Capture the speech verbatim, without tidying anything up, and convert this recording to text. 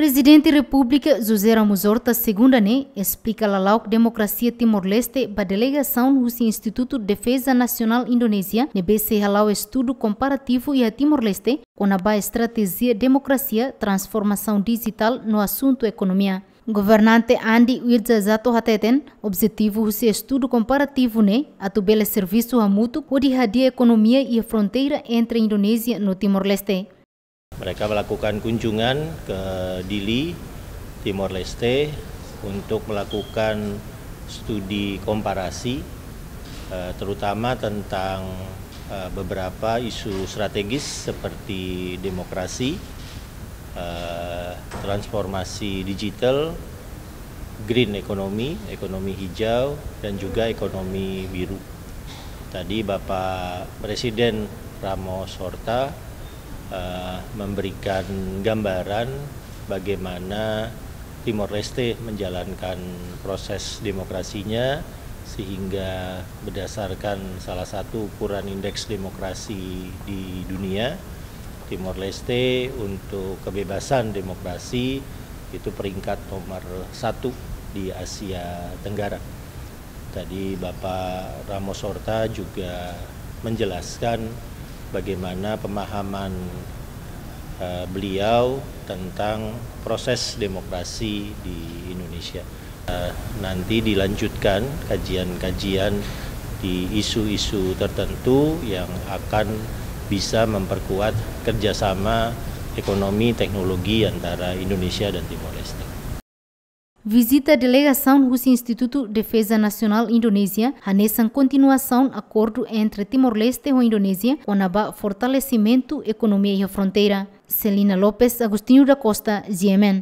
Prezidente Repúblika José Ramos Horta segunda ne'e esplika lala'ok demokrasia Timor-Leste ba delegasaun husi Institutu Defeza Nasionál Indonézia ne'ebé sei hala'o estudu komparativu iha Timor-Leste kona-ba estratéjia demokrasia, transformasaun dijitál no asuntu ekonomia. Governante Andi Wirjajato hateten, objetivu husi estudu komparativu ne'e atu bele servisu hamutuk hodi hadi'a ekonomia iha fronteira entre Indonézia no Timor-Leste. Mereka melakukan kunjungan ke Dili, Timor-Leste, untuk melakukan studi komparasi, eh, terutama tentang, eh, beberapa isu strategis seperti demokrasi, eh, transformasi digital, green economy, ekonomi hijau, dan juga ekonomi biru. Tadi Bapak Presiden Ramos Horta, eh, memberikan gambaran bagaimana Timor-Leste menjalankan proses demokrasinya, sehingga berdasarkan salah satu ukuran indeks demokrasi di dunia, Timor-Leste untuk kebebasan demokrasi itu peringkat nomor satu di Asia Tenggara. Tadi Bapak Ramos Horta juga menjelaskan bagaimana pemahaman, eh, beliau tentang proses demokrasi di Indonesia. Eh, nanti dilanjutkan kajian-kajian di isu-isu tertentu yang akan bisa memperkuat kerjasama ekonomi teknologi antara Indonesia dan Timor-Leste. Vizita delegasaun husi Institutu Defeza Nasionál Indonézia hanesan kontinuasaun akordu entre Timor-Leste ho Indonézia kona-ba fortalesimentu ekonomia iha fronteira. Celina Lopes, Agostinho da Costa, G M N.